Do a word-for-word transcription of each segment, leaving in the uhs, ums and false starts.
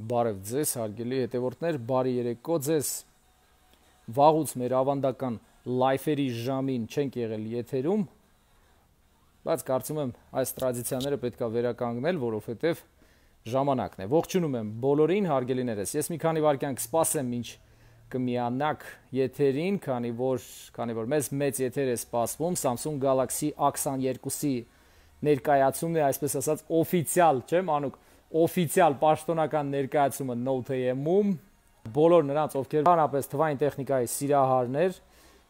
Բարև ձեզ, հարգելի հետևորդներ, բարի երեկո ձեզ։ Վաղուց մեր ավանդական լայֆերի ժամին չենք եղել եթերում, բայց կարծում եմ այս տրադիցիաները պետք է վերականգնել, որովհետև ժամանակն է։ Ողջունում եմ բոլորին, հարգելիներս։ Ես մի քանի վայրկյան կսպասեմ, ինչ կմիանաք եթերին, քանի որ, քանի որ մեզ մեծ եթեր է սպասվում Samsung Galaxy A քսաներկուսի ներկայացումն է, այսպես ասած, օֆիցիալ, չէ՞, Մանուկ, օֆիցիալ պաշտոնական ներկայացումը Note M-ում, բոլոր նրանց, ովքեր հանրապես թվային տեխնիկայի սիրահարներ,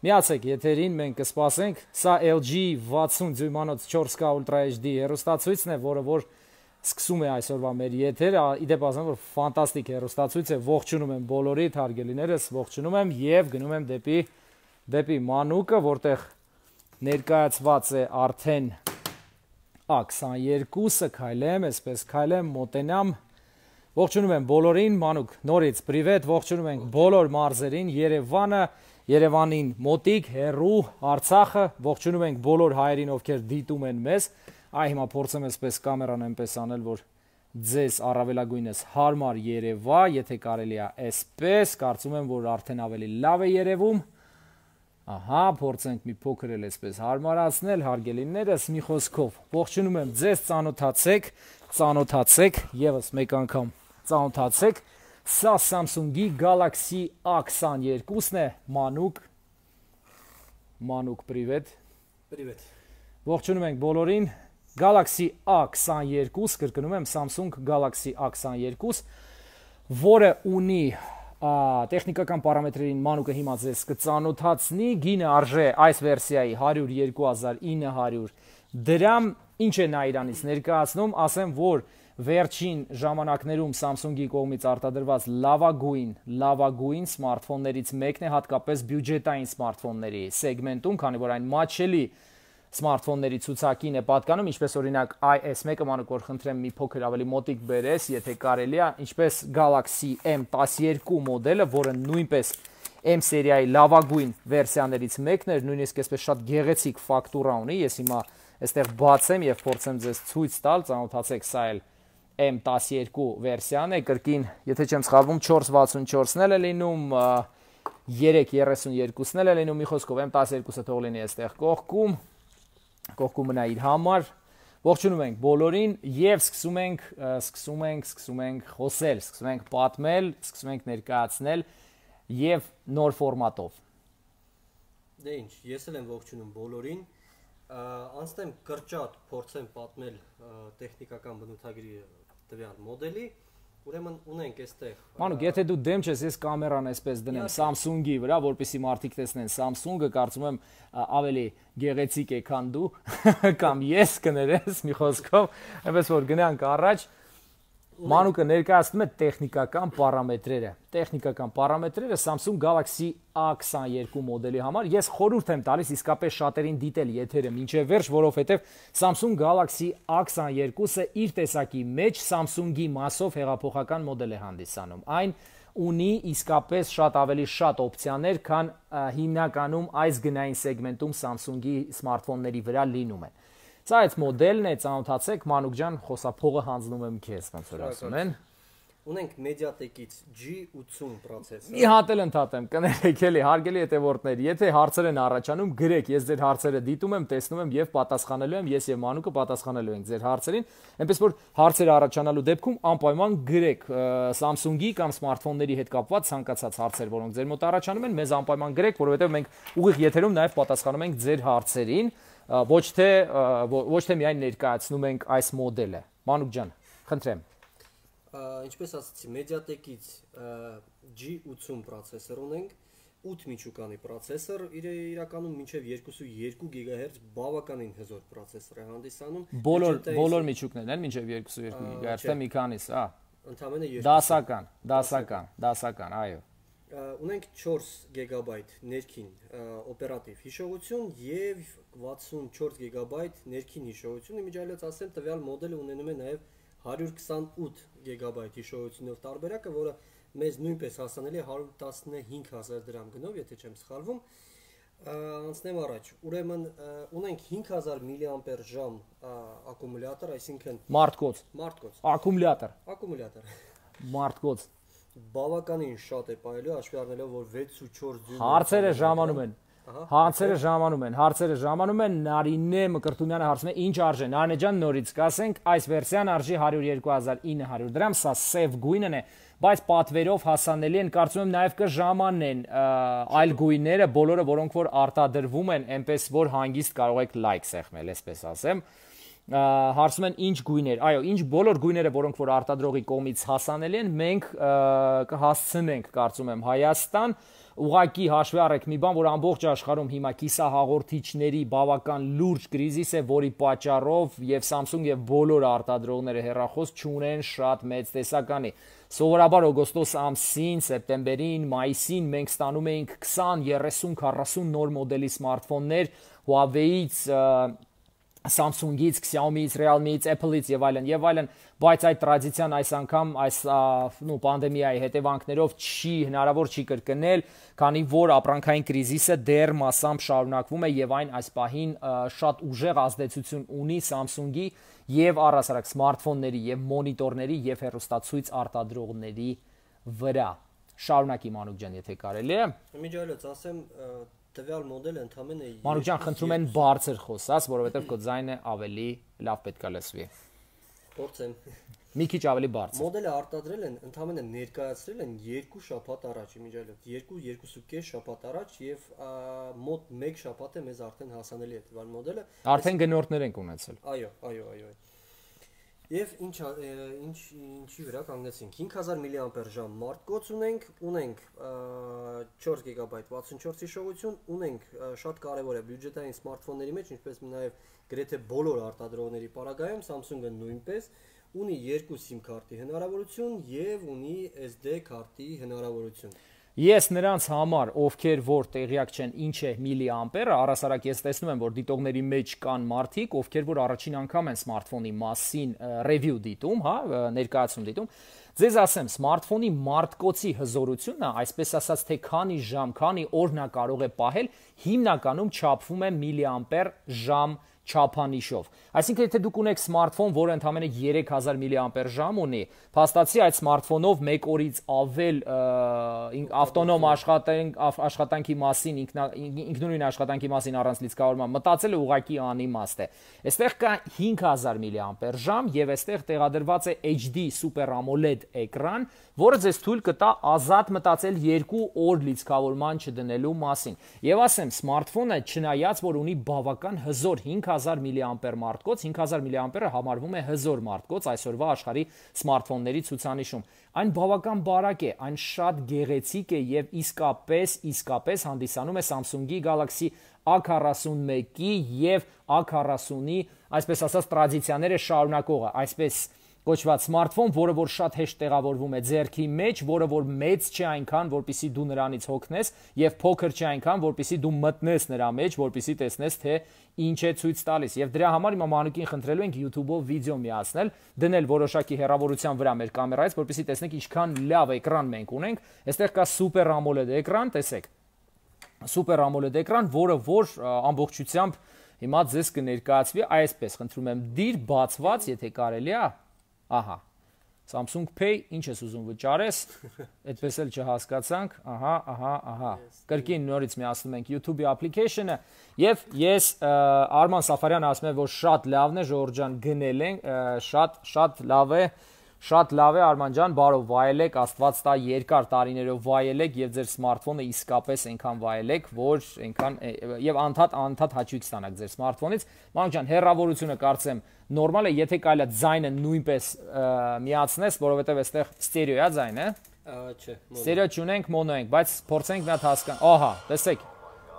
միացեք եթերին, մենք կսպասենք։ Սա L G վաթսուն դյույմանոց չորս K Ultra H D հեռուստացույցն է, որը որ սկսում է այսօրվա մեր եթերը, իդեպ ասեմ, որ ֆանտաստիկ հեռուստացույց է, ողջունում եմ բոլորիդ հարգելիներս, ողջունում եմ եւ գնում եմ դեպի դեպի Մանուկը, որտեղ ներկայացված է արդեն A քսաներկուսը, քայլեմ, այսպես քայլեմ, մոտենամ։ Ողջունում եմ բոլորին, Մանուկ, նորից պրիվետ, ողջունում ենք բոլոր մարզերին, Երևանը, Երևանին մոտիկ, հեռու, Արցախը, ողջունում ենք բոլոր հայերին, ովքեր դիտում են մեզ։ Այ հիմա փորձեմ այսպես կամերան այնպես անել, որ ձեզ առավելագույնս հարմար երևա, եթե կարելի է այսպես, կարծում եմ, որ արդեն ավելի լավ է երևում։ Ահա, փորձենք մի փոքր էլ այսպես հարմարացնել, հարգելիներս, մի խոսքով ողջունում եմ ձեզ, ծանոթացեք, ծանոթացեք, եւս մեկ անգամ ծանոթացեք։ Սա Samsung-ի Galaxy A քսաներկուսն է, Մանուկ։ Մանուկ, պրիվետ։ Պրիվետ։ Ողջունում ենք բոլորին։ Galaxy A քսաներկուս, կրկնում եմ, Samsung Galaxy A քսաներկուս, որը ունի տեխնիկական պարամետրերին Մանուկը հիմա ձեզ կծանոթացնի, գինը արժե այս վերսիայի հարյուր երկու հազար ինը հարյուր դրամ, ինչ է նա իրանից ներկայացնում, ասեմ, որ վերջին ժամանակներում Samsung-ի կողմից արտադրված լավագույն, լավագույն սմարթֆոններից մեկն է, հատկապես բյուջետային սմարթֆոնների սեգմենտում, քանի որ այն մատչելի սմարթֆոնների ցուցակին է պատկանում, ինչպես օրինակ I S one-ը, Մանուկ, որ խնդրեմ մի փոքր ավելի մոտիկ բերես, եթե կարելի է, ինչպես Galaxy M տասներկու մոդելը, որը նույնպես M սերիայի լավագույն վերսիաներից մեկն էր, նույնիսկ այսպես շատ գեղեցիկ ֆակտուրա ունի, ես հիմա այստեղ բացեմ եւ փորձեմ ձեզ ցույց տալ, ծանոթացեք, սա էլ M տասներկու վերսիան է, կրկին, եթե չեմ սխալվում, չորս վաթսունչորսն էլ է լինում, երեք երեսունյոթն էլ է լինում, մի խոսքով M տասներկուսը թող լինի այստեղ կողքում, կողքում մնա իր համար։ Ողջունում ենք բոլորին եւ սկսում ենք, սկսում ենք, սկսում ենք խոսել, սկսում ենք պատմել, սկսում ենք ներկայացնել եւ նոր ֆորմատով։ Դե ինչ, ես էլ եմ ողջունում բոլորին, անցնեմ կրճատ փորձեմ պատմել տեխնիկական բնութագրի տվյալ մոդելի, ուրեմն ունենք այստեղ։ Մանուկ, եթե դու դեմ չես, ես կամերան այսպես դնեմ Samsung-ի վրա, որպեսզի մարդիկ տեսնեն Samsung-ը, կարծում եմ ավելի գեղեցիկ է, քան դու, կամ ես կներես, մի խոսքով, այնպես որ գնանք առաջ։ Մանուկը ներկայացնում է տեխնիկական պարամետրերը։ Տեխնիկական պարամետրերը Samsung Galaxy A քսաներկու մոդելի համար ես խորհուրդ եմ տալիս իսկապես շատերին դիտել եթերը մինչև վերջ, որովհետև Samsung Galaxy A քսաներկուսը իր տեսակի մեջ Samsung-ի մասով հեղափոխական մոդել է հանդիսանում։ Այն ունի իսկապես շատ ավելի շատ օպցիաներ, քան հիմնականում այս գնային սեգմենտում Samsung-ի սմարթֆոնների վրա լինում են։ Սա այդ մոդելն է, ծանոթացեք, Մանուկ ջան, խոսափողը հանձնում եմ քեզ, ոնց որ ասում են։ Ունենք Mediatek-ից G ութսուն պրոցեսոր։ Մի հատ էլ ընդհատեմ, կներեք էլի, հարգելի հետևորդներ, եթե հարցեր են առաջանում, գրեք, ես ձեր հարցերը դիտում եմ, տեսնում եմ եւ պատասխանելու եմ, ես եւ Մանուկը պատասխանելու ենք ձեր հարցերին, այնպես որ հարցերը առաջանալու դեպքում անպայման գրեք Samsung-ի կամ սմարթֆոնների հետ կապված ցանկացած հարցեր, որոնք ձեր մոտ առաջանում են, մեզ անպայման գրեք, որովհետեւ մենք ուղիղ եթերում նաեւ պատասխանում ենք ձեր հարցերին, ոչ թե ոչ թե միայն ներկայացնում ենք այս մոդելը։ Մանուկ ջան, խնդրեմ։ Ինչպես ասացի, Mediatek-ից G ութսուն պրոցեսոր ունենք, ութ միջուկանի պրոցեսոր, իրականում մինչև երկու գիգահերց բավականին հզոր պրոցեսոր է հանդիսանում։ Բոլոր բոլոր միջուկներն են մինչև երկու գիգահերց, թե մի քանիս, հա։ Ընդամենը երկու։ Դասական, դասական, դասական, այո։ Ունենք չորս գիգաբայթ ներքին օպերատիվ հիշողություն եւ վաթսունչորս գիգաբայթ ներքին հիշողություն, իմիջիայլոց ասեմ, տվյալ մոդելը ունենում է նաեւ հարյուր քսանութ գիգաբայթ հիշողությունով տարբերակը, որը մեզ նույնպես հասանելի է հարյուր տասնհինգ հազար դրամ գնով, եթե չեմ սխալվում։ Անցնեմ առաջ։ Ուրեմն ունենք հինգ հազար միլիամպեր ժամ ակումուլյատոր, այսինքն մարդկոց։ Մարդկոց։ Ակումուլյատոր։ Ակումուլյատոր։ մարդկոց։ Բավականին շատ է ողջալի, հաշվի առնելով, որ վեց ու չորս դյույմ Հարցերը ժամանում են։ Հարցերը ժամանում են, հարցերը ժամանում են, Նարինե Մկրտումյանը հարցնում է ինչ արժե։ Նարինե ջան, նորից կասենք, այս վերսիան արժի հարյուր երկու հազար ինը հարյուր դրամ, սա սև գույնն է, բայց պատվերով հասանելի են, կարծում եմ նաև կժամանեն այլ գույները, բոլորը, որոնք որ արտադրվում են, այնպես որ հանգիստ կարող եք լայք սեղմել, այսպես ասեմ։ Հարցում են ինչ գույներ, այո, ինչ բոլոր գույները, որոնք որ արտադրողի կողմից հասանելի են, մենք կհասցնենք, կարծում եմ, Հայաստան, ուղակի հաշվի առեք մի բան, որ ամբողջ աշխարհում հիմա կիսահաղորդիչների բավական լուրջ կրիզիս է, որի պատճառով եւ Samsung եւ բոլոր արտադրողները հեռախոս չունեն շատ մեծ տեսականի։ Սովորաբար օգոստոս ամսին, սեպտեմբերին, մայիսին մենք ստանում էինք քսան, երեսուն, քառասուն նոր մոդելի սմարթֆոններ Huawei-ից, Samsung-ից, Xiaomi-ից, Realme-ից, Apple-ից եւ այլն եւ այլն, բայց այդ տրադիցիան այս անգամ այս նո պանդեմիայի հետևանքներով չի հնարավոր չի կրկնել, քանի որ ապրանքային կրիզիսը դեռ մասամբ շարունակվում է եւ այն այս պահին շատ ուժեղ ազդեցություն ունի Samsung-ի եւ առհասարակ սմարթֆոնների եւ մոնիտորների եւ հեռուստացույց արտադրողների վրա։ Շարունակի Մանուկ ջան, եթե կարելի է։ Միջայլոց ասեմ տվյալ մոդելը ընդամենը Մանուկ ջան, խնդրում են բարձր խոսած, որովհետեւ քո ձայնը ավելի լավ պետք է լսվի։ Փորձեմ։ Մի քիչ ավելի բարձր։ Մոդելը արտադրել են, ընդամենը ներկայացրել են երկու շաբաթ առաջ, միջայլոց, երկու երկու կես շաբաթ առաջ եւ մոտ մեկ շաբաթ է մեզ արդեն հասանելի է տվյալ մոդելը։ Արդեն գնորդներ ենք ունեցել։ Այո, այո, այո։ Եվ ինչ ինչ ինչի վրա կանգնեցինք հինգ հազար միլիամպեր-ժամ մարտկոց ունենք, ունենք չորս գիգաբայթ վաթսունչորս հիշողություն, ունենք շատ կարևոր է բյուջետային սմարթֆոնների մեջ, ինչպես նաև գրեթե բոլոր արտադրողների պարագայում Samsung-ը նույնպես ունի երկու SIM քարտի հնարավորություն եւ ունի S D քարտի հնարավորություն։ Ես նրանց համար, ովքեր որ տեղյակ չեն ինչ է միլիամպերը, առհասարակ ես տեսնում եմ, որ դիտողների մեջ կան մարդիկ, ովքեր որ առաջին անգամ են սմարթֆոնի մասին ռևյու դիտում, հա, ներկայացում դիտում, ձեզ ասեմ, սմարթֆոնի մարտկոցի հզորությունը, այսպես ասած, թե քանի ժամ, քանի օր նա կարող է պահել, հիմնականում չափվում է միլիամպեր ժամ չափանիշով։ Այսինքն, եթե դուք ունեք սմարթֆոն, որը ընդամենը երեք հազար միլիամպեր ժամ ունի, փաստացի այդ սմարթֆոնով մեկ օրից ավել ավտոնոմ աշխատանքի մասին, ինքնուրույն աշխատանքի մասին առանց լիցքավորման մտածելը ուղղակի անիմաստ է։ Այստեղ կա հինգ հազար միլիամպեր ժամ եւ այստեղ տեղադրված է H D Super AMOLED էկրան, որը ձեզ թույլ կտա ազատ մտածել երկու օր լիցքավորման չդնելու մասին։ Եվ ասեմ, սմարթֆոնը չնայած որ ունի բավական հզոր հինգ հազար միլիամպեր մարտկոց, հինգ հազար միլիամպերը համարվում է հզոր մարտկոց այսօրվա աշխարհի սմարթֆոնների ցուցանիշում։ Այն բավական բարակ է, այն շատ գեղեցիկ է եւ իսկապես, իսկապես հանդիսանում է Samsung-ի Galaxy A քառասունմեկի եւ A քառասունի, այսպես ասած, տրադիցիաները շարունակողը, այսպես կոչված սմարթֆոն, որը որ շատ հեշտ տեղավորվում է ձեռքի մեջ, որը որ մեծ չէ այնքան, որպեսզի դու նրանից հոգնես, եւ փոքր չէ այնքան, որպեսզի դու մտնես նրա մեջ, որպեսզի տեսնես, թե ինչ է ցույց տալիս։ Եվ դրա համար հիմա Մանուկին խնդրելու ենք YouTube-ով վիդեո միացնել, դնել որոշակի հեռավորության վրա մեր կամերայից, որպեսզի տեսնեք ինչքան լավ էկրան մենք ունենք։ Այստեղ կա Super AMOLED էկրան, տեսեք։ Super AMOLED էկրան, որը որ ամբողջությամբ հիմա ձեզ կներկայացվի այսպես, խնդրում եմ, դիր բացված, եթե կարելի է։ Ահա, Samsung Pay, ինչ ես ուզում վճարես, այդպես էլ չհասկացանք, ահա, ահա, ահա, կրկին նորից միացնում ենք YouTube-ի application-ը և ես Արման Սաֆարյանը ասում է, որ շատ լավն է, Ժորժ ջան գնել ենք, շատ, շատ լավ է, շատ լավ է Արման ջան, բարով վայելեք, Աստված տա երկար տարիներով վայելեք եւ ձեր սմարթֆոնը իսկապես այնքան վայելեք, որ այնքան եւ անդադ անդադ հաճույք ստանաք ձեր սմարթֆոնից։ Մանուկ ջան, հեռավորությունը կարծեմ նորմալ է, եթե կարելի է ձայնը նույնպես միացնես, որովհետեւ այստեղ ստերեո է ձայնը։ Չէ, ստերեո չունենք, մոնո ենք, բայց փորձենք մի հատ հասկանալ։ Ահա, տեսեք։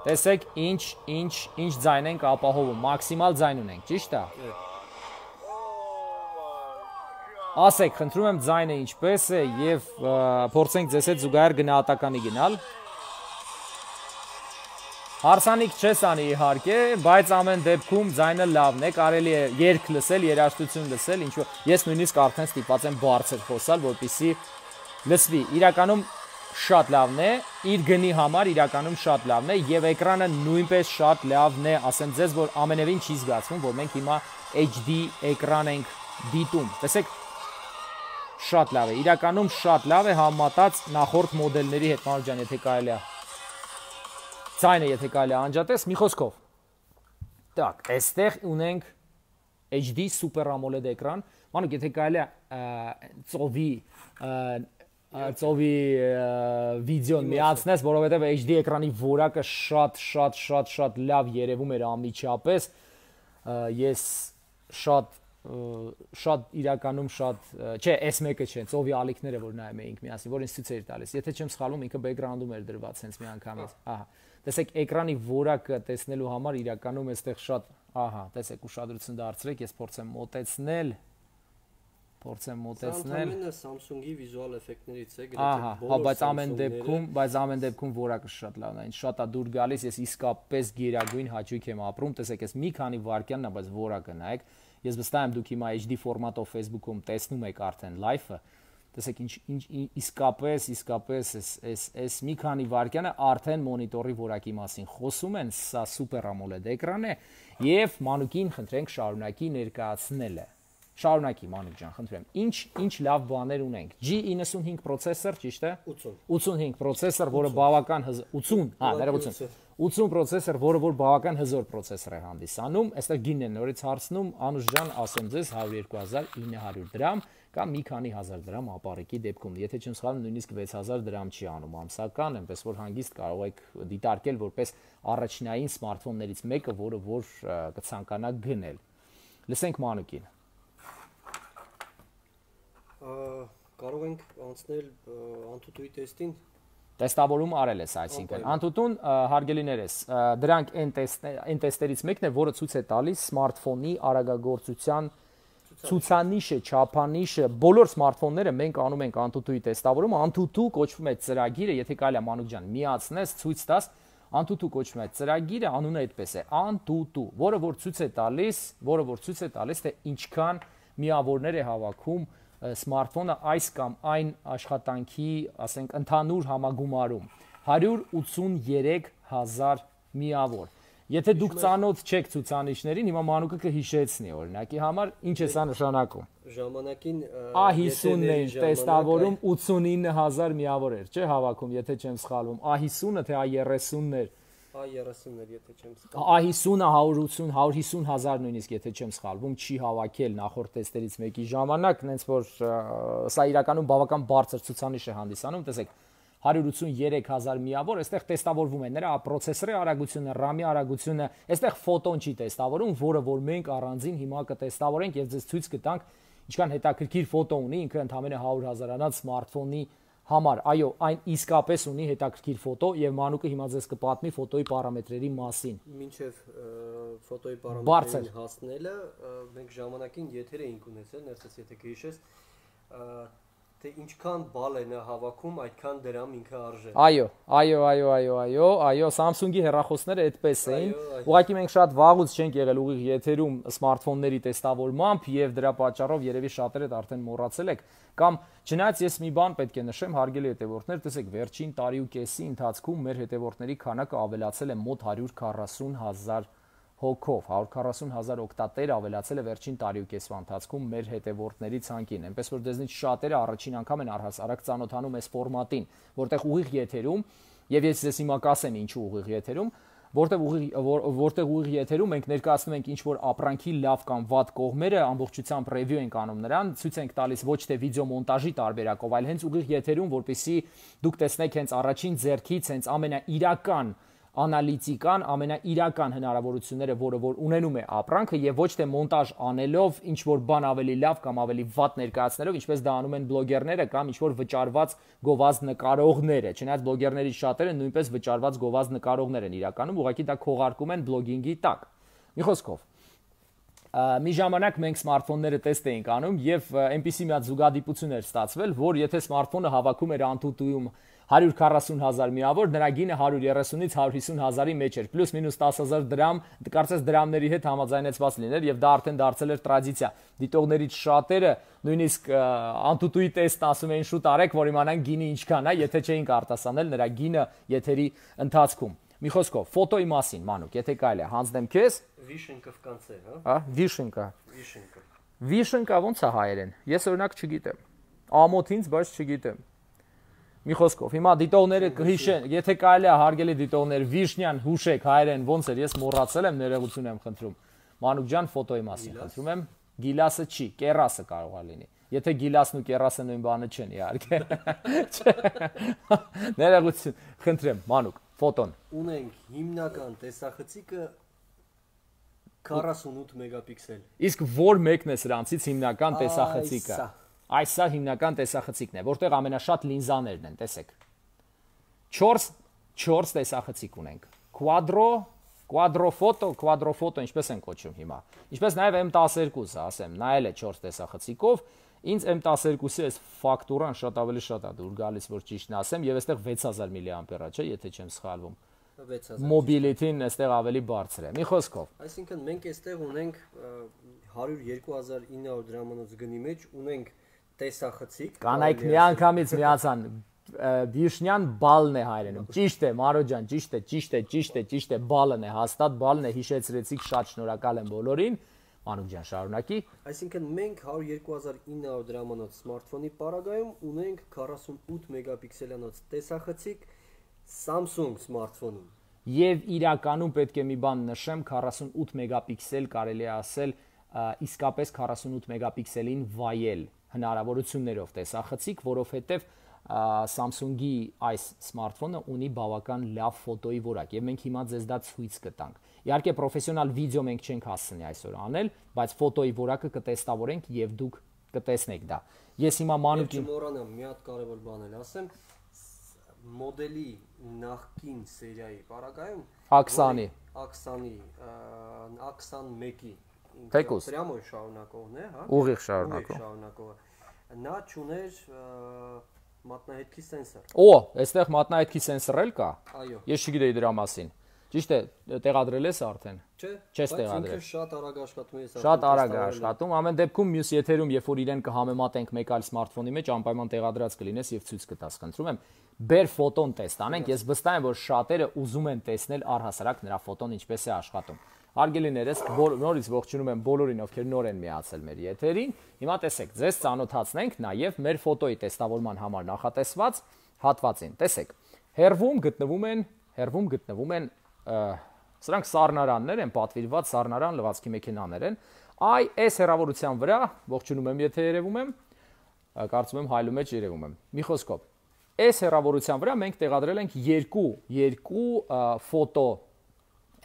Տեսեք ինչ ինչ ինչ ձայն ենք ապահովում, մաքսիմալ ձայն ունենք, ճիշտ է։ Ասեք, խնդրում եմ ձայնը ինչպես է եւ փորձենք ձեզ հետ զուգահեռ գնահատականի գնալ։ Հարսանիք չես անի իհարկե, բայց ամեն դեպքում ձայնը լավն է, կարելի է երգ լսել, երաժշտություն լսել, ինչ որ ես նույնիսկ արդեն ստիպված եմ բարձր խոսալ, որպեսզի լսվի։ Իրականում շատ լավն է, իր գնի համար իրականում շատ լավն է եւ էկրանը նույնպես շատ լավն է, ասեմ ձեզ, որ ամենևին չի զգացվում, որ մենք հիմա H D էկրան ենք դիտում։ Տեսեք, շատ լավ է, իրականում շատ լավ է համեմատած նախորդ մոդելների հետ, Մանուկ ջան, եթե կարելի է։ Ձայնը եթե կարելի է անջատես, մի խոսքով։ Так, այստեղ ունենք H D Super AMOLED էկրան, Մանուկ, եթե կարելի է ծովի ծովի վիդեոն միացնես, որովհետև H D էկրանի որակը շատ շատ շատ շատ լավ երևում էր անմիջապես, ես շատ շատ իրականում շատ, չէ, S one-ը չէ, ծովի ալիքները որ նայում էինք միասին, որ ինձ ցույց էր տալիս, եթե չեմ սխալվում, ինքը բեքգրաունդում էր դրված հենց մի անգամից, ահա, տեսեք էկրանի որակը տեսնելու համար իրականում այստեղ շատ, ահա, տեսեք ուշադրություն դարձրեք, ես փորձեմ մոտեցնել, փորձեմ մոտեցնել։ Սա Samsung-ի վիզուալ էֆեկտներից է, ահա, հա, բայց ամեն դեպքում, բայց ամեն դեպքում որակը շատ լավն է, ինձ շատ է դուր գալիս, ես իսկապես գերագույն հաճույք եմ ապրում, տեսեք, ես մի քանի վայրկյանն է, բայց որակը նայեք, ես վստահ եմ դուք հիմա H D ֆորմատով Facebook-ում տեսնում եք արդեն live-ը, տեսեք ինչ ինչ իսկապես, իսկապես էս էս էս մի քանի վայրկյանը արդեն մոնիտորի որակի մասին խոսում են, սա Super AMOLED էկրան է եւ Մանուկին խնդրենք շարունակի ներկայացնելը։ Շարունակի Մանուկ ջան, խնդրեմ։ Ինչ ինչ լավ բաներ ունենք։ G ninety-five processor, ճիշտ է? ութ ութանհինգ processor, որը բավական ութ, հա, ներողություն։ ութ processor, որը որ բավական հզոր processor է հանդիսանում, այստեղ գինն է նորից հարցնում, Անուշ ջան, ասեմ ձեզ one oh two thousand nine hundred դրամ կամ մի քանի հազար դրամ ապարիկի դեպքում։ Եթե չեմ սխալվում, նույնիսկ six thousand դրամ չի անում ամսական, այնպես որ հանգիստ կարող եք դիտարկել որպես առաջնային սմարթֆոններից մեկը, որը որ կցանկանաք գնել։ Լսենք Մանուկին։ Կարող ենք անցնել անտուտուի տեստին։ Տեստավորում արել ես, այսինքն անտուտուն հարգելիներս, դրանք այն այն տեստերից մեկն է, որը ցույց է տալիս սմարթֆոնի արագագործության ցուցանիշը, չափանիշը, բոլոր սմարթֆոնները մենք անում ենք անտուտուի տեստավորում, անտուտու կոչվում է ծրագիրը, եթե կարելի է Մանուկ ջան, միացնես, ցույց տաս, անտուտու կոչվում է ծրագիրը, անունը այդպես է, անտուտու, որը որ ցույց է տալիս, որը որ ցույց է տալիս, թե ինչքան միավորներ է հավաքում սմարթֆոնը այս կամ այն աշխատանքի, ասենք, ընդհանուր համագումարում one hundred eighty-three thousand միավոր։ Եթե դուք ծանոթ չեք ցուցանիշներին, հիմա Մանուկը կհիշեցնի օրինակի համար, ինչ է սա նշանակում։ Ժամանակին A fifty-ն է տեստավորում eighty-nine thousand միավոր էր, չէ՞ հավաքում, եթե չեմ սխալվում։ A fifty-ը թե A thirty-ն էր։ A thirty-ն էր, եթե չեմ սխալվում։ A fifty-ը one hundred eighty, one hundred fifty thousand նույնիսկ եթե չեմ սխալվում, չի հավաքել նախորդ տեստերից մեկի ժամանակ, նենց որ սա իրականում բավական բարձր ցուցանիշ է հանդիսանում, տեսեք, one hundred eighty-three thousand միավոր, այստեղ տեստավորվում է նրա պրոցեսորի արագությունը, RAM-ի արագությունը, այստեղ ֆոտոն չի տեստավորում, որը որ մենք առանձին հիմա կտեստավորենք եւ ձեզ ցույց կտանք ինչքան հետաքրքիր ֆոտո ունի, ինքը ընդամենը one hundred հազարանոց սմարթֆոնի համար, այո, այն իսկապես ունի հետաքրքիր ֆոտո եւ Մանուկը հիմա ձեզ կպատմի ֆոտոյի պարամետրերի մասին։ Մինչեւ ֆոտոյի պարամետրերին հասնելը մենք ժամանակին եթեր էինք ունեցել, ներսես եթե գիշես, թե ինչքան բալ է նա հավաքում, այդքան դրամ ինքը արժե։ Այո, այո, այո, այո, այո, այո, Samsung-ի հեռախոսները այդպես էին։ Ուղղակի մենք շատ վաղուց չենք եղել ուղիղ եթերում սմարթֆոնների տեստավորմամբ եւ դրա պատճառով երևի շատերը արդեն մոռացել եք կամ չնայած ես մի բան պետք է նշեմ, հարգելի հետևորդներ, տեսեք, վերջին տարի ու կեսի ընթացքում մեր հետևորդների քանակը ավելացել է մոտ one hundred forty thousand հոգով, one hundred forty thousand օգտատեր ավելացել է վերջին տարի ու կեսվա ընթացքում մեր հետևորդների ցանկին, այնպես որ դեզնից շատերը առաջին անգամ են առհասարակ ծանոթանում այս ֆորմատին, որտեղ ուղիղ եթերում, եւ ես ձեզ հիմա կասեմ ինչու ուղիղ եթերում, որտեղ ուղիղ որտեղ ուղիղ եթերում մենք ներկայացնում ենք ինչ որ ապրանքի լավ կամ վատ կողմերը, ամբողջությամբ ռևյու ենք անում նրան, ցույց ենք տալիս ոչ թե վիդեո մոնտաժի տարբերակով, այլ հենց ուղիղ եթերում, որպեսզի դուք տեսնեք հենց առաջին ձեռքից, հենց ամենաիրական անալիտիկան, ամենաիրական հնարավորությունները, որը որ ունենում է ապրանքը եւ ոչ թե մոնտաժ անելով ինչ որ բան ավելի լավ կամ ավելի վատ ներկայացնելով, ինչպես դա անում են բլոգերները կամ ինչ որ վճարված գովազդ նկարողները, չնայած բլոգերներից շատերը նույնպես վճարված գովազդ նկարողներ են իրականում, ուղղակի դա քողարկում են բլոգինգի տակ։ Մի խոսքով, մի ժամանակ մենք սմարթֆոնները տեստ էինք անում եւ այնպիսի մի հատ զուգադիպություն էր ստացվել, որ եթե սմարթֆոնը հավաքում էր անտուտույում one hundred forty thousand միավոր, նրա գինը one hundred thirtyից one hundred fifty thousand-ի մեջ էր, պլյուս մինուս ten thousand դրամ, կարծես դրամների հետ համաձայնեցված լիներ եւ դա արդեն դարձել էր տրադիցիա։ Դիտողներից շատերը նույնիսկ անտուտուի տեստ ասում էին շուտ արեք, որ իմանան գինը ինչքան է, եթե չէինք արտասանել նրա գինը եթերի ընթացքում։ Մի խոսքով, ֆոտոյի մասին, Մանուկ, եթե կարելի է, հանձնեմ քեզ։ Վիշենկով կանցեր, հա։ Հա, վիշենկա։ Վիշենկա։ Վիշենկա ո՞նց է հայերեն։ Ես օրինակ չգիտեմ։ Ամոթ ինձ, բայց չգիտեմ։ Մի խոսքով, հիմա դիտողները կհիշեն, եթե կարելի է հարգելի դիտողներ, Վիշնյան հուշեք հայերեն ոնց էր, ես մոռացել եմ, ներողություն եմ խնդրում։ Մանուկ ջան, ֆոտոյի մասին խնդրում եմ։ Գիլասը չի, կերասը կարող է լինի։ Եթե գիլասն ու կերասը նույն բանը չեն, իհարկե։ Ներողություն, խնդրեմ, Մանուկ, ֆոտոն։ Ունենք հիմնական տեսախցիկը քառասունութ մեգապիքսել։ Իսկ որ մեկն է սրանցից հիմնական տեսախցիկը։ Այս սա հիմնական տեսախցիկն է, որտեղ ամենաշատ լինզաներն են, տեսեք։ չորս չորս տեսախցիկ ունենք։ Quadro, quadro photo, quadro photo, ինչպես են կոչում հիմա։ Ինչպես նաև M տասներկուսը, ասեմ, նայել է չորս տեսախցիկով, ինձ M տասներկուսի այս ֆակտուրան շատ ավելի շատ է դուր գալիս, որ ճիշտն ասեմ, եւ այստեղ վեց հազար միլիամպեր է, չէ, եթե չեմ սխալվում։ Մոբիլիթին այստեղ ավելի բարձր է։ Մի խոսքով։ Այսինքն մենք այստեղ ունենք հարյուր երկու հազար ինը հարյուր դրամանոց գնի մեջ ունենք տեսախցիկ։ Կանայք միանգամից միացան Վիշնյան բալն է հայրենում։ Ճիշտ է, Մարո ջան, ճիշտ է, ճիշտ է, ճիշտ է, ճիշտ է, բալն է, հաստատ բալն է, հիշեցրեցիք, շատ շնորհակալ եմ բոլորին։ Մանուկ ջան, շարունակի։ Այսինքն մենք հարյուր երկու հազար ինը հարյուր դրամանոց սմարթֆոնի պարագայում ունենք քառասունութ մեգապիքսելանոց տեսախցիկ Samsung սմարթֆոնում։ Եվ իրականում պետք է մի բան նշեմ, քառասունութ մեգապիքսել կարելի է ասել, իսկապես քառասունութ մեգապիքսելին վայել հնարավորություններով տեսախցիկ, որովհետև Samsung-ի այս սմարթֆոնը ունի բավական լավ ֆոտոյի որակ եւ մենք հիմա ձեզ դա ցույց կտանք։ Իհարկե պրոֆեսիոնալ վիդեո մենք չենք հասցնի այսօր անել, բայց ֆոտոյի որակը կտեստավորենք եւ դուք կտեսնեք դա։ Ես հիմա Մանուկին չմոռանամ մի հատ կարևոր բան էլ ասեմ, մոդելի նախկին սերիայի պարագայում Աքսանի Աքսանի Աքսանմեկի Թեկուս Պրյամո շարունակողն է, հա։ Ուղիղ շարունակող։ Շարունակողը։ Նա ճուներ մատնահետքի սենսոր։ Օ, այստեղ մատնահետքի սենսոր էլ կա։ Այո։ Ես չգիտեի դրա մասին։ Ճիշտ է, տեղադրել ես արդեն։ Չէ, չես տեղադրել։ Շատ արագ աշխատում է, շատ արագ է աշխատում։ Ամեն դեպքում մյուս եթերում, երբ որ իրեն կհամեմատենք մեկ այլ սմարթֆոնի մեջ, անպայման տեղադրած կլինես եւ ցույց կտաս, խնդրում եմ։ Բեր ֆոտոն տեստ անենք, ես վստահ եմ, որ շատերը ուզում են տեսնել առհասարակ նրա ֆոտոն ինչպես է աշխատում։ Հարգելիներս, նորից ողջունում եմ բոլորին, ովքեր նոր են միացել մեր եթերին։ Հիմա տեսեք, ձեզ ծանոթացնենք նաև մեր ֆոտոյի տեստավորման համար նախատեսված հատվածին։ Տեսեք, հերվում գտնվում են, հերվում գտնվում են սրանք սառնարաններ են, պատվիրված սառնարան լվացքի մեքենաներ են։ Այ այս հեռավորության վրա, ողջունում եմ, եթե երևում եմ, կարծում եմ հայլու մեջ երևում եմ։ Մի խոսքով, այս հեռավորության վրա մենք տեղադրել ենք երկու, երկու ֆոտո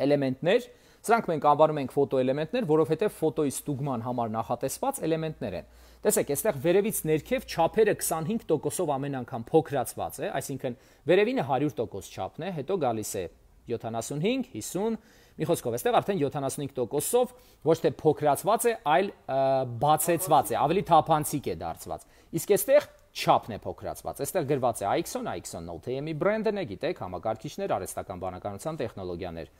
էլեմենտներ։ Սրանք մենք անվանում ենք ֆոտո էլեմենտներ, որովհետև ֆոտոյի ստուգման համար նախատեսված էլեմենտներ են։ Տեսեք, այստեղ վերևից ներքև չափերը քսանհինգ տոկոսով ամեն անգամ փոքրացված է, այսինքն վերևինը հարյուր տոկոս չափն է, հետո գալիս է յոթանասունհինգ, հիսուն, մի խոսքով, այստեղ արդեն յոթանասունհինգ տոկոսով ոչ թե փոքրացված է, այլ բացեցված է, ավելի թափանցիկ է դարձված։ Իսկ այստեղ չափն է փոքրացված։ Այստեղ գրված է Ixon, Ixon Note M-ի բրենդն է, գիտեք, համակարգիչներ, արհեստական բանականության տեխնոլոգիաներ։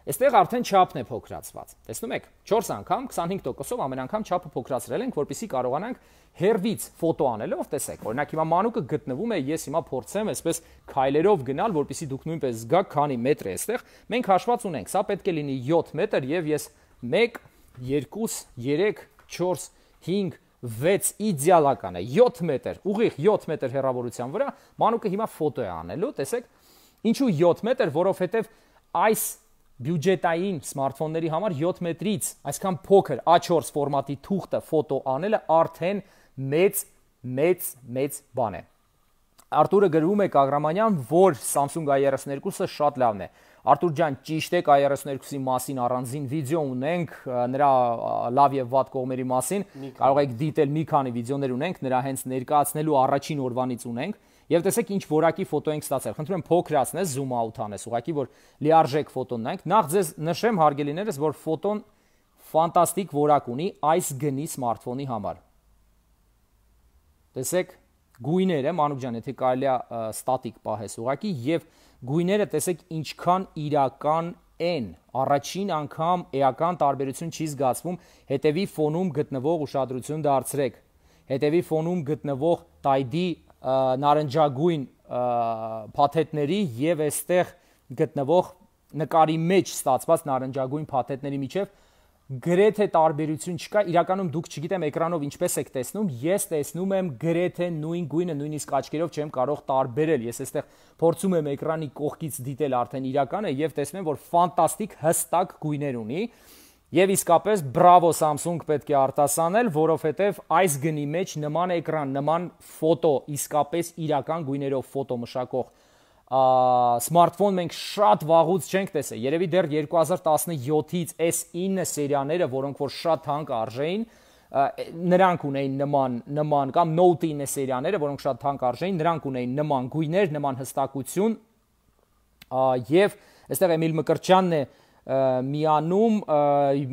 Այստեղ արդեն չափն է փոքրացված։ Տեսնում եք, չորս անգամ քսանհինգ տոկոսով ամեն անգամ չափը փոքրացրել ենք, որպեսզի կարողանանք հերվից ֆոտո անելով, տեսեք, օրինակ հիմա Մանուկը գտնվում է, ես հիմա փորձեմ այսպես քայլերով գնալ, որպեսզի դուք նույնպես զգաք, քանի մետր է այստեղ։ Մենք հաշված ունենք, սա պետք է լինի յոթ մետր եւ ես մեկ, երկու, երեք, չորս, հինգ, վեց իդեալական է, յոթ մետր, ուղիղ յոթ մետր հեռավորության վրա Մանուկը հիմա ֆոտո է անելու, տեսեք։ Ինչու յոթ մետր, որովհետեւ այս բյուջետային սմարթֆոնների համար յոթ մետրից այսքան փոքր A չորս ֆորմատի թուղթը ֆոտո անելը արդեն մեծ մեծ մեծ բան է։ Արտուրը գրում է Կագրամանյան, որ Samsung A thirty-two-ը շատ լավն է։ Արտուր ջան, ճիշտ է, A thirty-two-ի մասին առանձին վիդեո ունենք, նրա լավ եւ վատ կողմերի մասին, կարող եք դիտել, մի քանի վիդեոներ ունենք, նրա հենց ներկայացնելու առաջին օրվանից ունենք։ Եվ տեսեք ինչ որակի ֆոտո ենք ստացել։ Խնդրում եմ փոքրացնես, zoom out անես, ուղղակի որ լիարժեք ֆոտոն նայեք։ Նախ ձեզ նշեմ հարգելիներս, որ ֆոտոն ֆանտաստիկ որակ ունի այս գնի սմարթֆոնի համար։ Տեսեք, գույները, Մանուկ ջան, եթե կարելի է ստատիկ պահես ուղղակի եւ գույները տեսեք ինչքան իրական են։ Առաջին անգամ էական տարբերություն չի զգացվում, հետևի ֆոնում գտնվող ուշադրություն դարձրեք։ Հետևի ֆոնում գտնվող տայդի նարնջագույն փաթեթների եւ այստեղ գտնվող նկարի մեջ ստացված նարնջագույն փաթեթների միջև գրեթե տարբերություն չկա, իրականում դուք չգիտեմ էկրանով ինչպես եք տեսնում, ես տեսնում եմ գրեթե նույն գույնը, նույնիսկ աչքերով չեմ կարող տարբերել։ Ես այստեղ փորձում եմ էկրանի կողքից դիտել արդեն իրականը եւ տեսնում եմ, որ ֆանտաստիկ հստակ գույներ ունի։ Եվ իսկապես բրավո Samsung պետք է արտասանել, որովհետև այս գնի մեջ նման էկրան, նման ֆոտո, իսկապես իրական գույներով ֆոտո մշակող սմարթֆոն մենք շատ վաղուց չենք տեսել։ Երևի դեռ երկու հազար տասնյոթից էս ինը սերիաները, որոնք որ շատ թանկ արժեին, նրանք ունեին նման նման կամ Note ինը սերիաները, որոնք շատ թանկ արժեին, նրանք ունեին նման գույներ, նման հստակություն, եւ այստեղ Էմիլ Մկրտչյանն է միանում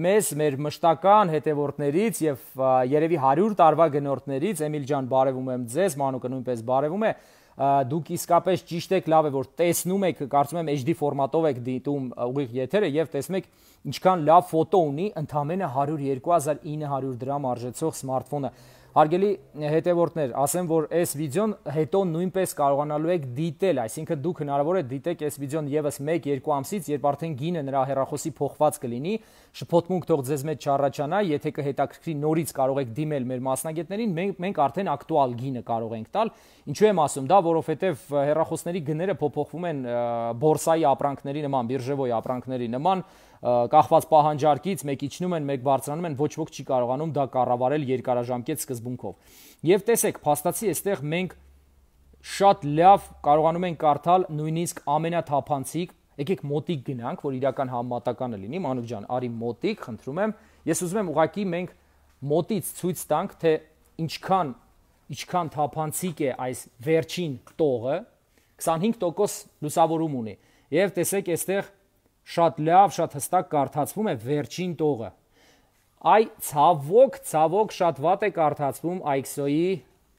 մեզ մեր մշտական հետևորդներից եւ երևի հարյուր տարվա գնորդներից։ Էմիլ ջան, բարևում եմ ձեզ, Մանուկը նույնպես բարևում է։ Դուք իսկապես ճիշտ եք, լավ է որ տեսնում եք, կարծում եմ H D ֆորմատով եք դիտում ուղիղ եթերը եւ տեսնում եք ինչքան լավ ֆոտո ունի ընդամենը հարյուր երկու հազար ինը հարյուր դրամ արժեցող սմարթֆոնը։ Հարգելի հետևորդներ, ասեմ, որ այս վիդեոն հետո նույնպես կարողանալու եք դիտել, այսինքն դուք հնարավոր է դիտեք այս վիդեոն եւս մեկ երկու ամսից, երբ արդեն գինը նրա հեռախոսի փոխված կլինի, շփոթմունք թող ձեզ մեջ չառաջանա, եթե կհետաքրքրի նորից կարող եք դիմել մեր մասնագետներին, մենք մենք արդեն ակտուալ գինը կարող ենք տալ։ Ինչու եմ ասում դա, որովհետեւ հեռախոսների գները փոփոխվում են բորսայի ապրանքների նման, բիրժևոյի ապրանքների նման, կախված պահանջարկից մեկ իջնում են, մեկ բարձրանում են, ոչ ոք չի կարողանում դա կառավարել երկարաժամկետ սկզբունքով։ Եվ տեսեք, փաստացի այստեղ մենք շատ լավ կարողանում ենք կարդալ նույնիսկ ամենաթափանցիկ, եկեք մոտիկ գնանք, որ իրական համեմատականը լինի, Մանուկ ջան, արի մոտիկ, խնդրում եմ։ Ես ուզում եմ ուղղակի մենք մոտից ցույց տանք, թե ինչքան ինչքան թափանցիկ է այս վերջին տողը, քսանհինգ տոկոս լուսավորում ունի։ Եվ տեսեք, այստեղ շատ լավ, շատ հստակ կարդացվում է վերջին տողը։ Այ ցավոք, ցավոք շատ վատ է կարդացվում I X O-ի,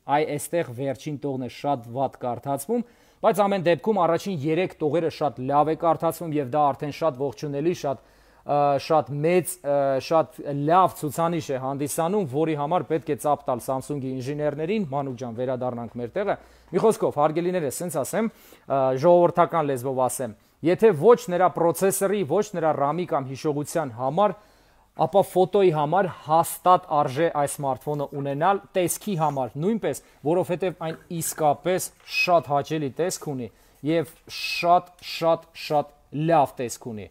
այ այստեղ վերջին տողն է շատ վատ կարդացվում, բայց ամեն դեպքում առաջին երեք տողերը շատ լավ է կարդացվում եւ դա արդեն շատ ողջունելի, շատ շատ մեծ, շատ լավ ցուցանիշ է հանդիսանում, որի համար պետք է ծափ տալ Samsung-ի ինժեներներին։ Մանուկ ջան, վերադառնանք մեր տեղը։ Մի խոսքով, հարգելիներս, ասենց ասեմ, ժողովրդական լեզվով ասեմ, եթե ոչ նրա պրոցեսորի, ոչ նրա RAM-ի կամ հիշողության համար, ապա ֆոտոյի համար հաստատ արժե այս սմարթֆոնը ունենալ, տեսքի համար նույնպես, որովհետև այն իսկապես շատ հաճելի տեսք ունի եւ շատ շատ շատ լավ տեսք ունի։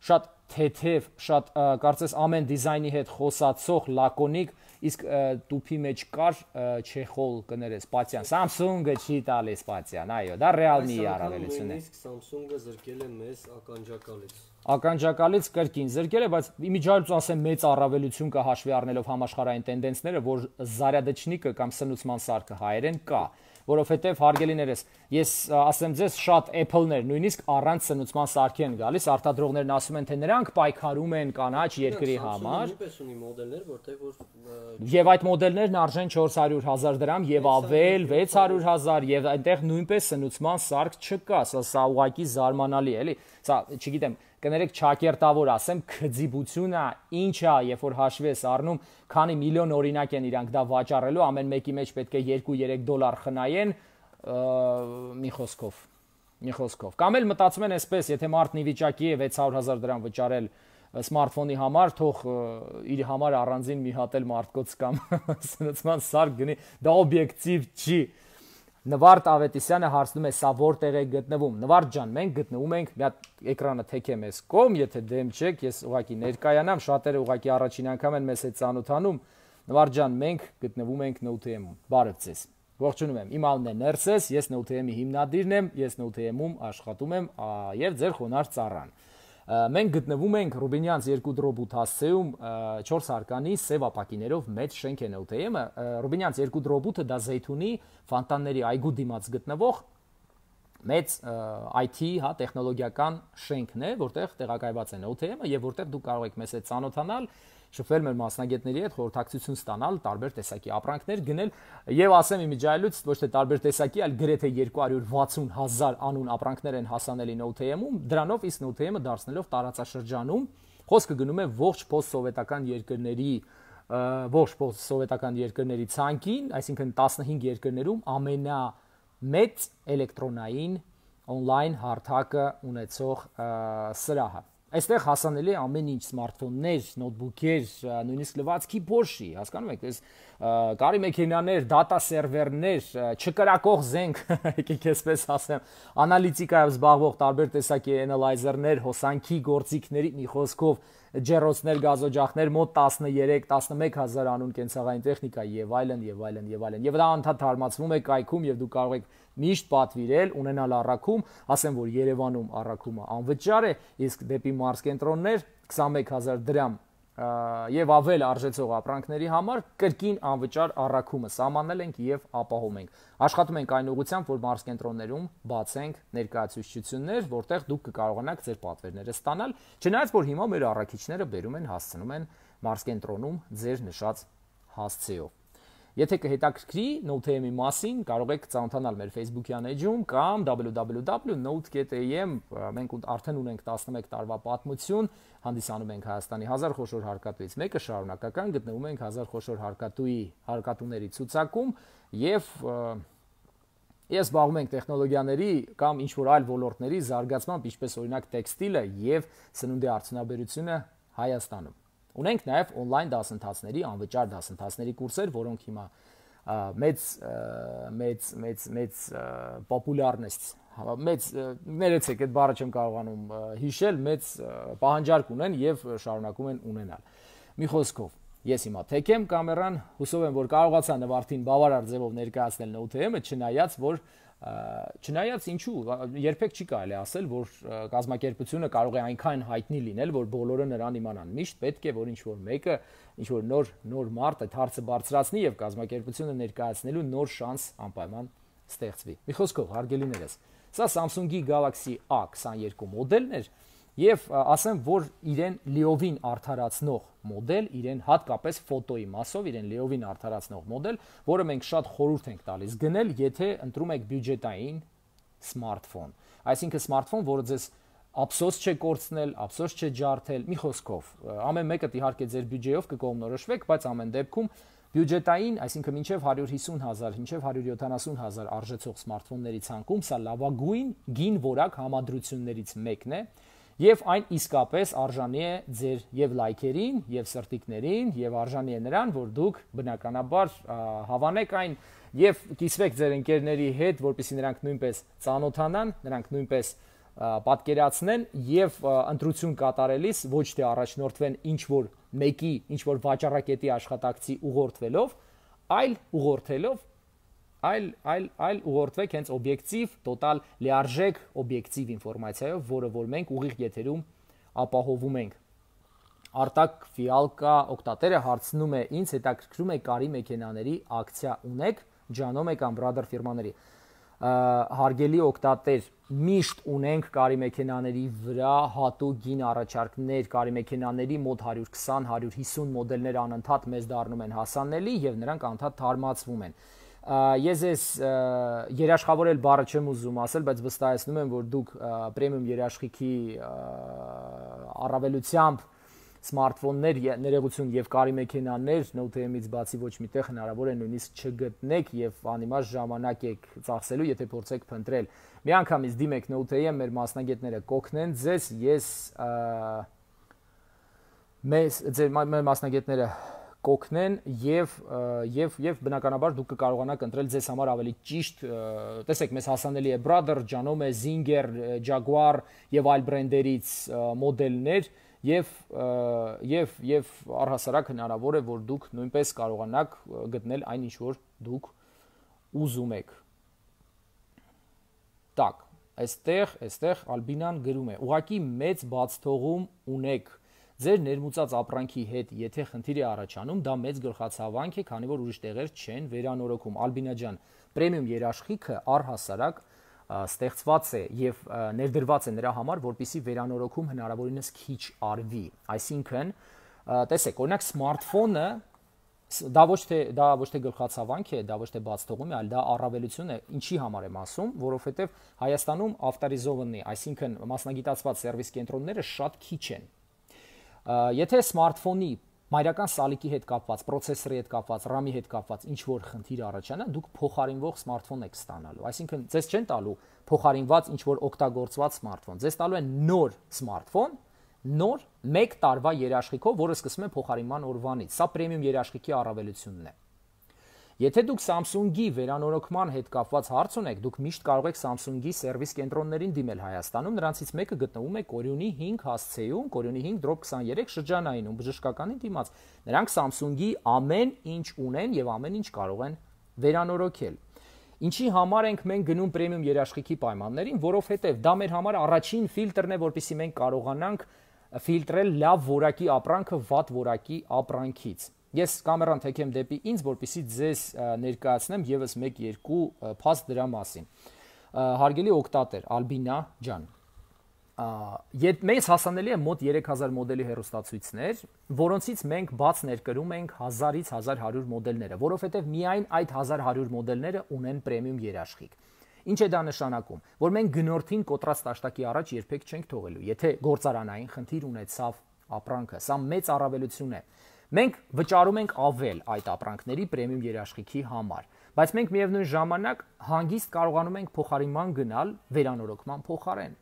Շատ թեթև, շատ կարծես ամեն դիզայնի հետ խոսացող, լակոնիկ, իսկ տուփի մեջ կար չեխոլ կներես Պատյան, Samsung-ը չի տալիս Պատյան, այո, դա Realme-ի առավելությունն է։ Իսկ Samsung-ը զրկել է մեզ ականջակալից։ Ականջակալից կրկին զրկել է, բայց իմիջիայլուց ասեմ մեծ առավելություն կա հաշվի առնելով համաշխարհային տենդենսները, որ զարյադեչնիկը կամ սնուցման սարքը հայերեն կա, որովհետև հարգելիներս, ես ասեմ ձեզ շատ Apple-ներ նույնիսկ առանց սնուցման սարքի են գալիս, արտադրողներն ասում են, թե նրանք պայքարում են կանաչ երկրի համար։ Նույնպես ունի մոդելներ, որտեղ որ Եվ այդ մոդելներն արժեն չորս հարյուր հազար դրամ եւ ավել վեց հարյուր հազար եւ այնտեղ նույնպես սնուցման սարք չկա, սա սա ուղղակի զարմանալի է, էլի։ Սա, չգիտեմ, կներեք ճակերտավոր ասեմ, քծիբությունը ինչ է, երբ որ հաշվի ես առնում, քանի միլիոն օրինակ են իրանք դա վաճառելու, ամեն մեկի մեջ պետք է երկու երեք դոլար խնայեն, մի խոսքով, մի խոսքով։ Կամ էլ մտածում են այսպես, եթե մարդն ի վիճակի է վեց հարյուր հազար դրամ վճարել սմարթֆոնի համար, թող իր համար առանձին մի հատ էլ մարդկոց կամ սնուցման սարք գնի, դա օբյեկտիվ չի։ Նվարդ Ավետիսյանը հարցնում է, սա որտեղ է գտնվում։ Նվարդ ջան, մենք գտնվում ենք, մի հատ էկրանը թեքեմ ես կողմ, եթե դեմ չեք, ես ուղղակի ներկայանամ, շատերը ուղղակի առաջին անգամ են մեզ հետ ծանոթանում։ Նվարդ ջան, մենք գտնվում ենք Note M-ում։ Բարև ձեզ։ Ողջունում եմ։ Իմ անունն է Ներսես, ես Note M-ի հիմնադիրն եմ, ես Note M-ում աշխատում եմ եւ ձեր խոնարհ ծառան։ Մենք գտնվում ենք Ռուբինյանց երկու դրոբութ հասցեում չորս հարկանի սև ապակիներով մեծ շենք է Note M-ը։ Ռուբինյանց երկու դրոբութը դա Զեյթունի Ֆանտանների այգու դիմաց գտնվող մեծ I T, հա, տեխնոլոգիական շենքն է, որտեղ տեղակայված է Note M-ը եւ որտեղ դուք կարող եք մեզ հետ ծանոթանալ, շփվել մեր մասնագետների հետ, խորհրդակցություն ստանալ, տարբեր տեսակի ապրանքներ գնել եւ ասեմ իմիջիայլուց ոչ թե տարբեր տեսակի, այլ գրեթե երկու հարյուր վաթսուն հազար անուն ապրանքներ են հասանելի Note M-ում, դրանով իսկ Note M-ը դարձնելով տարածաշրջանում, խոսքը գնում է ողջ post-սովետական երկրների ողջ post-սովետական երկրների ցանկին, այսինքն տասնհինգ երկրներում ամենամեծ էլեկտրոնային on-line հարթակը ունեցող սրահը։ Այստեղ հասանելի է ամեն ինչ, սմարթֆոններ, նոթբուքեր, նույնիսկ լվացքի փոշի, հասկանում եք, այս կարի մեքենաներ, դատա սերվերներ, չկրակող զենք, եկեք այսպես ասեմ, անալիտիկայով զբաղվող տարբեր տեսակի անալայզերներ, հոսանքի գործիքների մի խոսքով ջեռոցներ, գազօջախներ, մոտ տասներեք տասնմեկ հազար անուն կենցաղային տեխնիկա եւ այլն եւ այլն եւ այլն։ Եվ դա անդադ թարմացվում է կայքում եւ դուք կարող եք միշտ պատվիրել, ունենալ առաքում, ասեմ որ Երևանում առաքումը անվճար է, իսկ դեպի մարզկենտրոններ քսանմեկ հազար դրամ եւ ավել արժեցող ապրանքների համար կրկին անվճար առաքումը սահմանել ենք եւ ապահովում ենք։ Աշխատում ենք այն ուղղությամբ, որ մարզկենտրոններում բացենք ներկայացուցչություններ, որտեղ դուք կկարողանաք ձեր պատվերները ստանալ, չնայած որ հիմա մեր առաքիչները բերում են, հասցնում են մարզկենտրոնում ձեր նշած հասցեով։ Եթե կհետաքրքրի Note-ի մասին, կարող եք ծանոթանալ մեր Facebook-յան էջում կամ w w w dot note dot a m, մենք արդեն ունենք տասնմեկ տարվա պատմություն, հանդիսանում ենք Հայաստանի հազար խոշոր հարկատուից մեկը, շարունակական գտնվում ենք հազար խոշոր հարկատուի հարկատուների ցուցակում եւ ես զբաղվում ենք տեխնոլոգիաների կամ ինչ-որ այլ ոլորտների զարգացմամբ, ինչպես օրինակ տեքստիլը եւ սնունդի արդյունաբերությունը Հայաստանում։ Ունենք նաև on-line դասընթացների, անվճար դասընթացների կուրսեր, որոնք հիմա մեծ մեծ մեծ մեծ պոպուլյարնեստ, մեծ ներեցեք այդ բառը չեմ կարողանում հիշել, մեծ պահանջարկ ունեն եւ շարունակում են ունենալ։ Մի խոսքով, ես հիմա թեք եմ կամերան, հուսով եմ, որ կարողացա Նվարդին բավարար ձևով ներկայացնել Note-ը, չնայած որ Չնայած ինչու, երբեք չի կարելի ասել, որ կազմակերպությունը կարող է այնքան հայտնի լինել, որ բոլորը նրան իմանան։ Միշտ պետք է, որ ինչ-որ մեկը, ինչ-որ նոր նոր մարդ այդ հարցը բարձրացնի եւ կազմակերպությունը ներկայացնելու նոր շանս անպայման ստեղծվի։ Մի խոսքով, հարգելիներս, սա Samsung-ի Galaxy A քսաներկու մոդելն էր եւ ասեմ, որ իրեն լիովին արդարացնող մոդել, իրեն հատկապես ֆոտոյի մասով իրեն լիովին արդարացնող մոդել, որը մենք շատ խորհուրդ ենք տալիս գնել, եթե ընտրում եք բյուջետային սմարթֆոն։ Այսինքն սմարթֆոն, որը ձեզ ափսոս չէ կորցնել, ափսոս չէ ջարդել, մի խոսքով, ամեն մեկը իհարկե ձեր բյուջեով կկողմնորոշվեք, բայց ամեն դեպքում բյուջետային, այսինքն մինչև հարյուր հիսուն հազար, մինչև հարյուր յոթանասուն հազար արժեցող սմարթֆոնների ցանկում սա լավագույն գին որակ համադրություններից մեկն է։ Եվ այն իսկապես արժանի է ձեր եւ լայքերին, եւ սրտիկներին, եւ արժանի է նրան, որ դուք բնականաբար հավանեք այն եւ կիսվեք ձեր ընկերների հետ, որպեսզի նրանք նույնպես ծանոթանան, նրանք նույնպես պատկերացնեն եւ ընտրություն կատարելիս ոչ թե առաջնորդվեն ինչ որ մեկի, ինչ որ վաճառակետի աշխատակցի ուղղորդվելով, այլ ուղղորդելով այլ այլ այլ ուղղորդվեք հենց օբյեկտիվ, տոտալ լիարժեք օբյեկտիվ ինֆորմացիայով, որը որ մենք ուղիղ եթերում ապահովում ենք։ Արտակ Ֆիալկա օկտատերը հարցնում է, ինձ հետաքրքրում է կարի մեքենաների ակցիա ունեք, Ջանոմե կամ Brother ֆիրմաների։ Հարգելի օկտատեր, միշտ ունենք կարի մեքենաների վրա հատուկ գին առաջարկներ, կարի մեքենաների մոտ հարյուր քսան հարյուր հիսուն մոդելներ անընդհատ մեզ դառնում են հասանելի եւ նրանք անընդհատ թարմացվում են։ Ես ես երաշխավորել բառը չեմ ուզում ասել, բայց վստահեցնում եմ, որ դուք պրեմիում երաշխիքի առավելությամբ սմարթֆոններ, ներողություն եւ կարի մեքենաներ Note-ից բացի ոչ միտեղ հնարավոր է նույնիսկ չգտնեք եւ անիմաստ ժամանակ եք ծախսելու, եթե փորձեք փնտրել։ Մի անգամից դիմեք Note-ը, մեր մասնագետները կօգնեն ձեզ, ես մեզ ձեր մասնագետները կօգնեն եւ եւ եւ բնականաբար դուք կկարողանաք ընտրել ձեզ համար ավելի ճիշտ, տեսեք, մեզ հասանելի է Brother, Ջանոմե, Zinger, Jaguar եւ այլ բրենդերից մոդելներ եւ եւ եւ առհասարակ հնարավոր է, որ դուք նույնպես կարողանաք գտնել այն ինչ որ դուք ուզում եք։ Так, այստեղ, այստեղ Ալբինան գրում է. ուղղակի մեծ բացթողում ունեք ձեր ներմուծած ապրանքի հետ, եթե խնդիր է առաջանում, դա մեծ գլխացավանք է, քանի որ ուրիշ տեղեր չեն վերանորոգում։ Ալբինա ջան, պրեմիում երաշխիքը առհասարակ ստեղծված է եւ ներդրված է նրա համար, որպեսզի վերանորոգում հնարավորինս քիչ արվի։ Այսինքն, տեսեք, օրինակ սմարթֆոնը դա ոչ թե դա ոչ թե գլխացավանք է, դա ոչ թե բացթողում է, այլ դա առավելություն է։ Ինչի համար եմ ասում, որովհետեւ Հայաստանում ավտորիզովանի, այսինքն մասնագիտացված սերվիս կենտրոնները շատ քիչ են։ Եթե սմարթֆոնի մայրական սալիկի հետ կապված, պրոցեսորի հետ կապված, RAM-ի հետ կապված ինչ որ խնդիր առաջանա, դուք փոխարինվող սմարթֆոն եք ստանալու։ Այսինքն, ձեզ չեն տալու փոխարինված ինչ որ օգտագործված սմարթֆոն, ձեզ տալու են նոր սմարթֆոն նոր մեկ տարվա երաշխիքով, որը սկսում է փոխարինման օրվանից։ Սա պրեմիում երաշխիքի առավելությունն է։ Եթե դուք Samsung-ի վերանորոգման հետ կապված հարց ունեք, դուք միշտ կարող եք Samsung-ի սերվիս կենտրոններին դիմել Հայաստանում, նրանցից մեկը գտնվում է Կորյունի հինգ հասցեում, Կորյունի հինգ քսաներեք շրջանայինում, բժշկականին դիմաց։ Նրանք Samsung-ի ամեն ինչ ունեն եւ ամեն ինչ կարող են վերանորոգել։ Ինչի համար ենք մենք գնում պրեմիում երաշխիքի պայմաններին, որովհետեւ դա մեր համար առաջին ֆիլտրն է, որպեսզի մենք կարողանանք ֆիլտրել լավ որակի ապրանքը վատ որակի ապրանքից։ Ես կամերան թեքեմ դեպի ինձ, որպեսզի ձեզ ներկայացնեմ եւս մեկ-երկու փաստ դրա մասին։ Հարգելի օգտատեր Ալբինա ջան, մեզ հասանելի է մոտ երեք հազար մոդելի հեռուստացույցներ, որոնցից մենք բաց ներկրում ենք հազարից հազար հարյուր մոդելները, որովհետև միայն այդ հազար հարյուր մոդելները ունեն պրեմիում երաշխիք։ Ինչ է դա նշանակում, որ մենք գնորդին կոտրած տաշտակի առաջ երբեք չենք թողելու, եթե գործարանային խնդիր ունեցավ ապրանքը, սա մեծ առավելություն է։ Մենք վճարում ենք ավել այդ ապրանքների պրեմիում երաշխիքի համար, բայց մենք միևնույն ժամանակ հանգիստ կարողանում ենք փոխարինման գնալ վերանորոգման փոխարեն։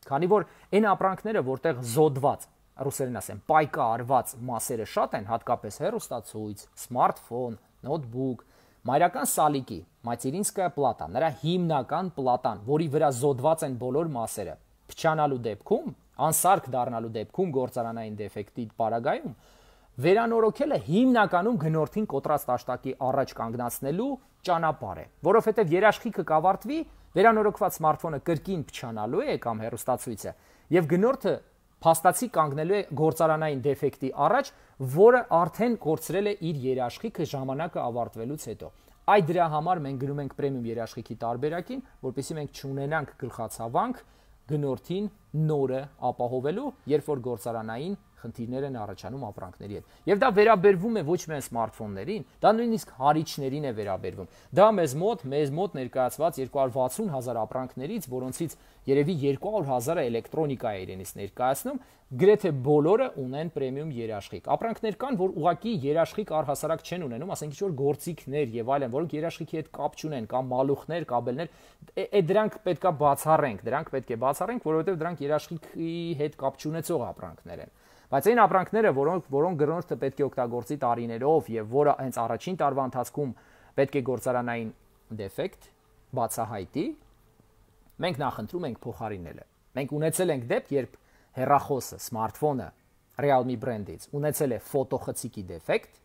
Քանի որ այն ապրանքները, որտեղ զոդված, ռուսերեն ասեմ, պայկա արված մասերը շատ են, հատկապես հեռուստացույց, սմարթֆոն, նոթբուք, մայրական սալիկի, մատերինսկայա պլատա, նրա հիմնական պլատան, որի վրա զոդված են բոլոր մասերը, փչանալու դեպքում, անսարք դառնալու դեպքում գործարանային դեֆեկտի պարագայում, վերանորոգելը հիմնականում գնորդին կոտրած տաշտակի առաջ կանգնացնելու ճանապարհ է, որովհետև երաշխիքը կավարտվի, վերանորոգված սմարթֆոնը կրկին փչանալու է կամ հեռուստացույցը, եւ գնորդը փաստացի կանգնելու է գործարանային դեֆեկտի առաջ, որը արդեն կորցրել է իր երաշխիքը ժամանակը ավարտվելուց հետո։ Այդ դրա համար մենք գնում ենք պրեմիում երաշխիքի տարբերակին, որպեսզի մենք չունենանք գլխացավանք գնորդին նորը ապահովելու, երբ որ գործարանային խնդիրներ են առաջանում ապրանքների հետ։ Եվ դա վերաբերվում է ոչ միայն սմարթֆոններին, դա նույնիսկ հարիչներին է վերաբերվում։ Դա մեզ մոտ, մեզ մոտ ներկայացված երկու հարյուր վաթսուն հազար ապրանքներից, որոնցից երևի երկու հարյուր հազարը էլեկտրոնիկա է իրենից ներկայացնում, գրեթե բոլորը ունեն պրեմիում երաշխիք։ Ապրանքներ կան, որ ուղղակի երաշխիք առհասարակ չեն ունենում, ասենք ինչ-որ գործիքներ եւ այլն, որոնք երաշխիքի հետ կապ չունեն, կամ մալուխներ, կաբելներ, այդ դրանք պետքա բացառենք, դրանք պետք է բացառենք, որովհետեւ դրանք երաշխիքի հետ կապ չունեցող ապրանքներ են։ Բայց այն ապրանքները, որոնք որոնք գնորդը պետք է օգտագործի տարիներով եւ որը հենց առաջին տարվա ընթացքում պետք է գործարանային դեֆեկտ բացահայտի, մենք նախընտրում ենք փոխարինելը։ Մենք ունեցել ենք դեպք, երբ հեռախոսը, սմարթֆոնը Realme բրենդից ունեցել է ֆոտոխցիկի դեֆեկտ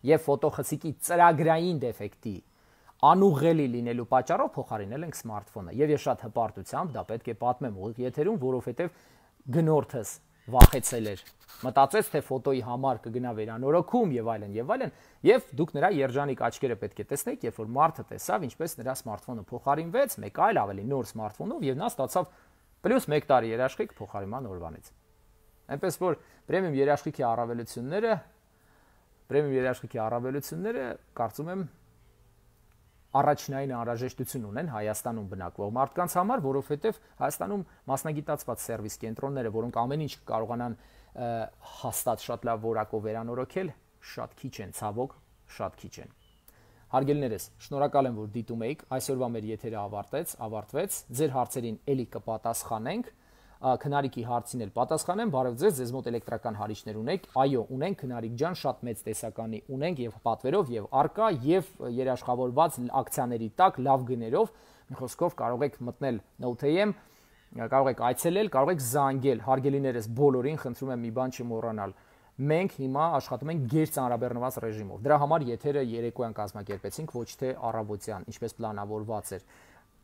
եւ ֆոտոխցիկի ծրագրային դեֆեկտի անուղղելի լինելու պատճառով փոխարինել ենք սմարթֆոնը։ Եվ ես շատ հպարտությամբ դա պետք է պատմեմ ուղիղ եթերում, որովհետեւ գնորդս վախեցել էր, մտածեց, թե ֆոտոյի համար կգնա վերանորոգում եւ այլն եւ այլն, եւ դուք նրա երջանիկ աչքերը պետք է տեսնեիք, երբ որ մարդը տեսավ, ինչպես նրա սմարթֆոնը փոխարինվեց մեկ այլ ավելի նոր սմարթֆոնով եւ նա ստացավ պլյուս մեկ տարի երաշխիք փոխարինման օրվանից։ Այնպես որ պրեմիում երաշխիքի առավելությունները, պրեմիում երաշխիքի առավելությունները, կարծում եմ, առաջնային անհրաժեշտություն ունեն Հայաստանում բնակվող մարդկանց համար, որովհետև Հայաստանում մասնագիտացված սերվիս կենտրոնները, որոնք ամեն ինչ կարողանան հաստատ շատ լավ որակով վերանորոգել, շատ քիչ են, ցավոք, շատ քիչ են։ Հարգելիներս, շնորհակալ եմ, որ դիտում եք։ Այսօրվա մեր եթերը ավարտեց, ավարտվեց։ Ձեր հարցերին ելի կպատասխանենք։ Քնարիկի հարցին էլ պատասխանեմ, բարև ձեզ, ձեզ մոտ էլեկտրական հարիչներ ունեք, այո, ունենք, քնարիկ ջան, շատ մեծ տեսականի ունենք եւ պատվերով եւ արկա եւ երաշխավորված ակցիաների տակ լավ գներով, մի խոսքով կարող եք մտնել Note-am, կարող եք այցելել, կարող եք զանգել, հարգելիներս, բոլորին խնդրում եմ մի բան չմոռանալ։ Մենք հիմա աշխատում ենք գերծանրաբեռնված ռեժիմով։ Դրա համար եթերը երեկոյան կազմակերպեցինք, ոչ թե առավոտյան, ինչպես պլանավորված էր։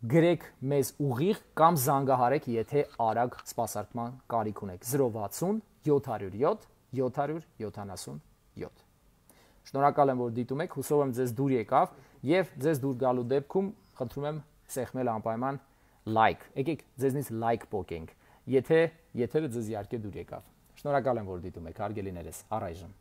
Գրեք մեզ ուղիղ կամ զանգահարեք, եթե արագ սպասարկման կարիք ունեք։ զրո վաթսուն յոթ հարյուր յոթ յոթ հարյուր յոթանասունյոթ։ Շնորհակալ եմ, որ դիտում եք, հուսով եմ ձեզ դուր եկավ եւ ձեզ դուր գալու դեպքում խնդրում եմ սեղմել անպայման լայք։ Եկեք ձեզնից լայք պոկենք, եթե եթերը ձեզ իհարկե դուր եկավ։ Շնորհակալ եմ, որ դիտում եք, հարգելիներս, առայժմ։